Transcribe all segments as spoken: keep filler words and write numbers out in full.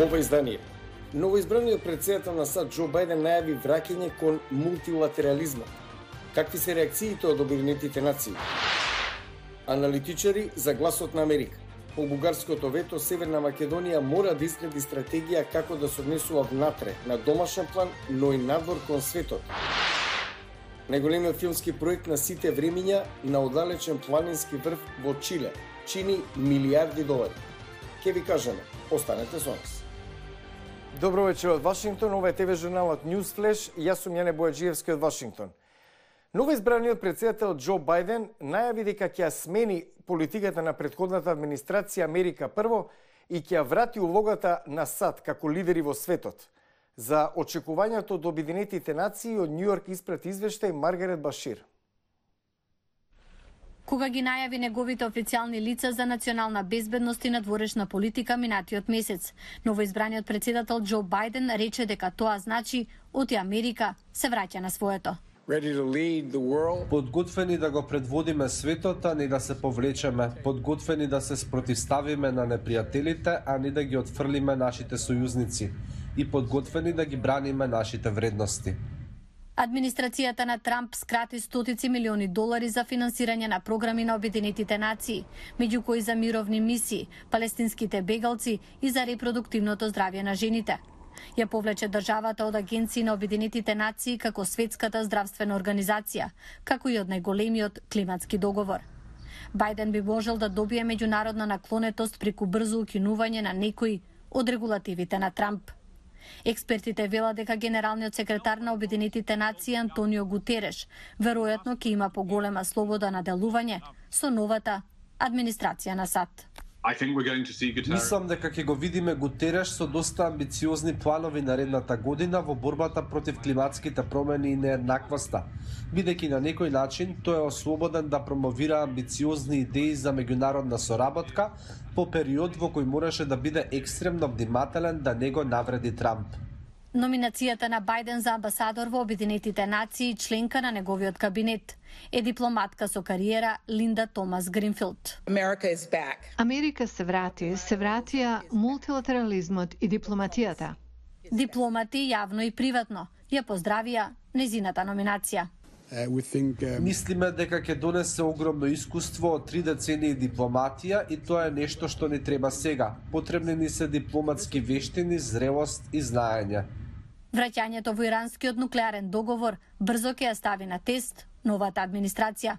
ова издание. Новоизбраниот претседател на САД Џо Бајден најави враќање кон мултилатерализмот. Какви се реакциите од Обединетите нации? Аналитичари за гласот на Америка. По бугарското вето, Северна Македонија мора да изгради стратегија како да се однесува внатре, на домашен план, но и надвор кон светот. Најголемиот филмски проект на сите времиња на оддалечен планински врв во Чиле чини милиарди долари. Ке ви кажеме, останете со нас. Добро вечер од Вашингтон, ова е ТВ журналот News Flash, јас сум Јане Бојаджиевски од Вашингтон. Новоизбраниот претседател Џо Бајден најави дека ќе смени политиката на претходната администрација Америка прво и ќе врати улогата на САД како лидери во светот. За очекувањето од Обединетите нации од Њу Јорк испрати извештај Маргарет Башир. Кога ги најави неговите официјални лица за национална безбедност и надворешна политика минатиот месец, новоизбраниот претседател Џо Бајден рече дека тоа значи оти Америка се враќа на своето. Подготвени да го предводиме светот, а не да се повлечеме. Подготвени да се спротивставиме на непријателите, а не да ги отфрлиме нашите сојузници. И подготвени да ги браниме нашите вредности. Администрацијата на Трамп скрати стотици милиони долари за финансирање на програми на Обединетите нации, меѓу кои за мировни мисии, палестинските бегалци и за репродуктивното здравје на жените. Ја повлече државата од агенции на Обединетите нации како Светската здравствена организација, како и од најголемиот климатски договор. Бајден би можел да добие меѓународна наклонетост преку брзо укинување на некои од регулативите на Трамп. Експертите велат дека генералниот секретар на Обединетите нации Антонио Гутереш веројатно ќе има поголема слобода на делување со новата администрација на САД. Мислам дека ќе го видиме Гутереш со доста амбициозни планови наредната година во борбата против климатските промени и нееднаквоста, бидејќи на некој начин тој е ослободен да промовира амбициозни идеи за меѓународна соработка по период во кој мораше да биде екстремно внимателен да не го навреди Трамп. Номинацијата на Бајден за амбасадор во Обединетите нации и членка на неговиот кабинет е дипломатка со кариера Линда Томас Гринфилд. Америка се врати, се вратија мултилатерализмот и дипломатијата. Дипломати јавно и приватно ја поздравија незината номинација. Мислиме дека ќе донесе огромно искуство од три децении дипломатија и тоа е нешто што ни треба сега. Потребни ни се дипломатски вештини, зрелост и знаење. Враќањето во иранскиот нуклеарен договор брзо ќе ја стави на тест новата администрација.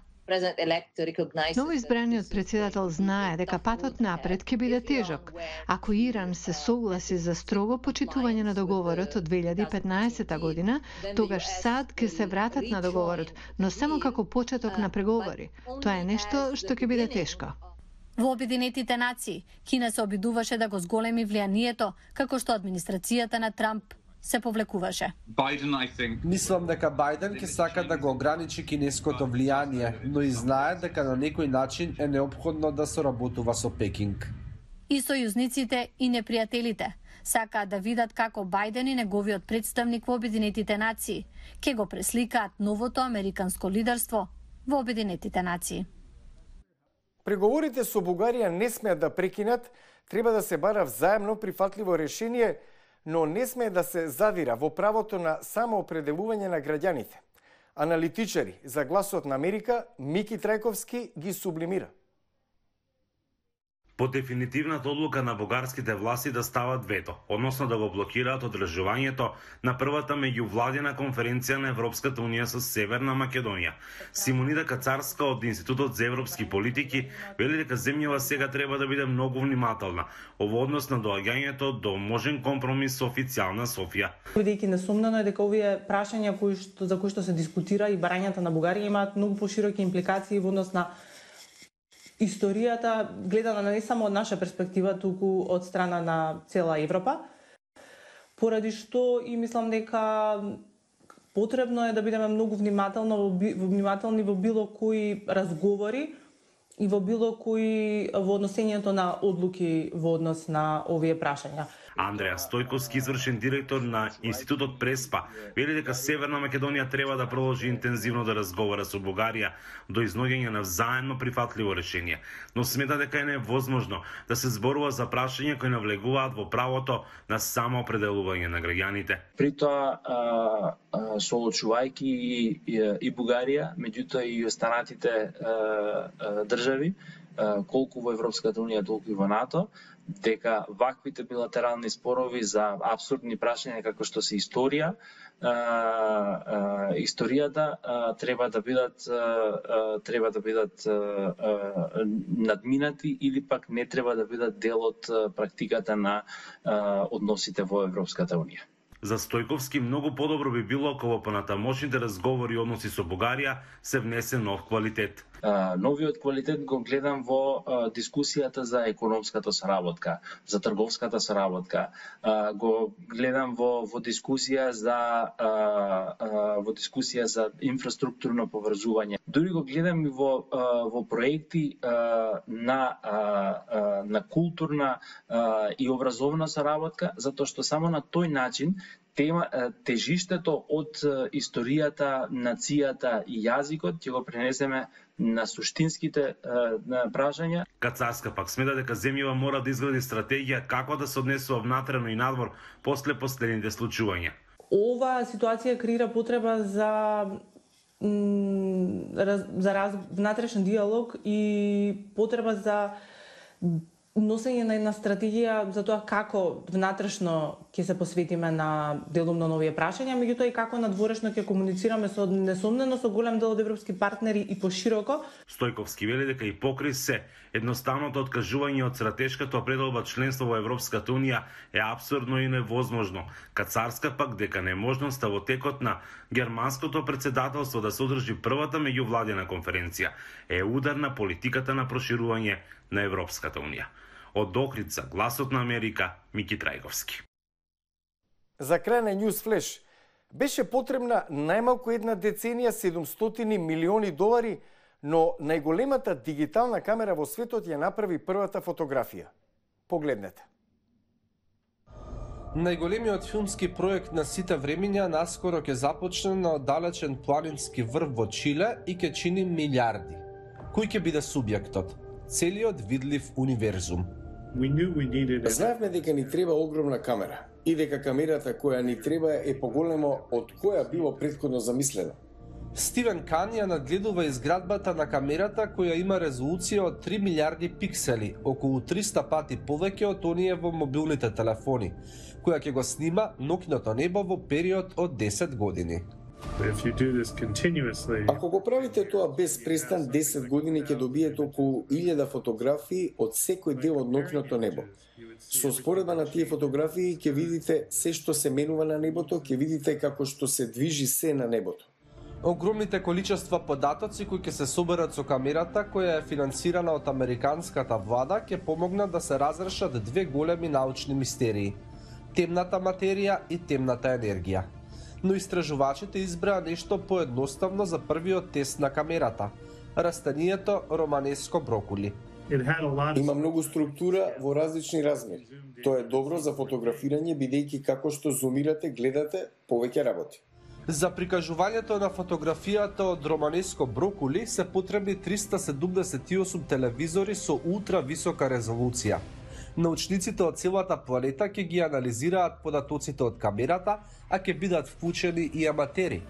Новоизбраниот претседател знае дека патот напред ќе биде тежок. Ако Иран се согласи за строго почитување на договорот од две илјади и петнаесета година, тогаш САД ќе се вратат на договорот, но само како почеток на преговори. Тоа е нешто што ќе биде тешко. Во Обединетите нации, Кина се обидуваше да го зголеми влијанието, како што администрацијата на Трамп се повлекуваше. Мислам дека Бајден ќе сака да го ограничи кинеското влијание, но и знае дека на некој начин е неопходно да соработува со Пекинг. И сојузниците и непријателите сакаат да видат како Бајден и неговиот представник во Обединетите нации ќе го пресликаат новото американско лидерство во Обединетите нации. Преговорите со Бугарија не смеат да прекинат, треба да се бара взаемно прифатливо решение, но не смее да се задира во правото на самоопределување на граѓаните. Аналитичари за гласот на Америка Мики Трајковски ги сублимира. По дефинитивната одлука на бугарските власти да стават вето, односно да го блокираат одржувањето на првата меѓувладина конференција на Европската унија со Северна Македонија. Симонида Кацарска од Институтот за европски политики вели дека земјава сега треба да биде многу внимателна во однос на доаѓањето до можен компромис со официјална Софија. Бидејќи несомнено е дека овие прашања кои што за кои што се дискутира и барањата на Бугарија имаат многу пошироки импликации во однос на историјата, гледана не само од наша перспектива, туку од страна на цела Европа, поради што и мислам дека потребно е да бидеме многу внимателни, внимателни во било кои разговори и во било кои во односењето на одлуки во однос на овие прашања. Андреа Стојковски, извршен директор на Институтот Преспа, вели дека Северна Македонија треба да продолжи интензивно да разговара со Бугарија до изнаоѓање на взаемно прифатливо решение, но смета дека е невозможно да се зборува за прашања кои навлегуваат во правото на самоопределување на граѓаните. При тоа, соочувајќи и, и, и Бугарија, меѓутоа и останатите а, а, држави, а, колку во Европската унија, толку и во НАТО, дека ваквите билатерални спорови за апсурдни прашања како што се историја, а, а, историјата а, треба да бидат а, треба да бидат а, а, надминати или пак не треба да бидат дел од практиката на а, односите во Европската унија. За Стојковски многу подобро би било ако во понатамошните разговори и односи со Бугарија се внесе нов квалитет. Uh, новиот квалитет го гледам во uh, дискусијата за економската соработка, за трговската соработка. Uh, го гледам во во дискусија за uh, uh, во дискусија за инфраструктурно поврзување. Дури го гледам и во uh, во проекти uh, на uh, uh, на културна uh, и образовна соработка, затоа што само на тој начин тема, тежиштето од историјата, нацијата и јазикот ќе го пренесеме на суштинските на прашања. Кацарска пак смета дека земјава мора да изгради стратегија како да се однесува внатрешно и надвор после последните случувања. Ова ситуација креира потреба за за раз, внатрешен диалог и потреба за носење на една стратегија за тоа како внатрешно ќе се посветиме на делумно нови прашања, меѓутоа и како надворешно ќе комуницираме со несомнено со голем дел од европски партнери и пошироко. Стојковски вели дека и покрај се едноставното откажување од стратешката определба членство во Европската унија е апсурдно и невозможно. Кацарска пак дека неможноста во текот на германското претседателство да се одржи првата меѓувладина конференција е удар на политиката на проширување на Европската унија. Од Охрид за Гласот на Америка, Мики Трајковски. За крај на News Flash, беше потребна најмалку една деценија седумстотини милиони долари, но најголемата дигитална камера во светот ја направи првата фотографија. Погледнете. Најголемиот филмски проект на сите времиња наскоро ќе започне на оддалечен планински врв во Чиле и ќе чини милиарди. Кој ќе биде субјектот? Целиот видлив универзум. Знаевме дека ни треба огромна камера и дека камерата која ни треба е поголема од која било претходно замислено. Стивен Кан ја надгледува изградбата на камерата која има резолуција од три милиарди пиксели, околу триста пати повеќе од оние во мобилните телефони, која ќе го снима ноќното небо во период од десет години. Ако го правите тоа без престан, десет години ќе добиете околу илјада фотографии од секој дел од ноќното небо. Со споредба на тие фотографии ќе видите се што се менува на небото, ќе видите како што се движи се на небото. Огромните количества податоци кои ќе се соберат со камерата, која е финансирана од американската влада, ќе помогнат да се разрешат две големи научни мистерии: темната материја и темната енергија. Но истражувачите избраа нешто поедноставно за првиот тест на камерата – растанието романеско брокули. Има многу структура во различни размери. Тоа е добро за фотографирање, бидејќи како што зумирате, гледате повеќе работи. За прикажувањето на фотографијата од романеско брокули се потребни триста седумдесет и осум телевизори со ултра висока резолуција. Научниците од целата планета ќе ги анализираат податоците од камерата, а ќе бидат вклучени и аматери.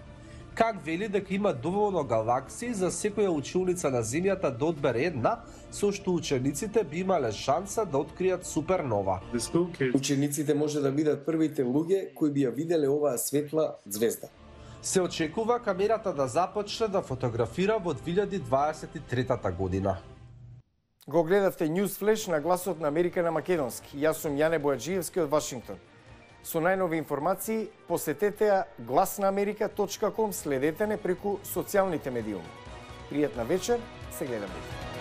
Как вели дека има доволно галаксии за секоја училница на Земјата да одбере една, со што учениците би имале шанса да откријат супернова. Учениците може да бидат првите луѓе кои би ја виделе оваа светла ѕвезда. Се очекува камерата да започне да фотографира во две илјади дваесет и трета година. Го гледавте News Flash на Гласот на Америка на македонски. Јас сум Јане Бојаджиевски од Вашингтон. Со најнови информации посетете ја глас на америка точка ком, следете не преку социјалните медиуми. Пријатна вечер, се гледаме.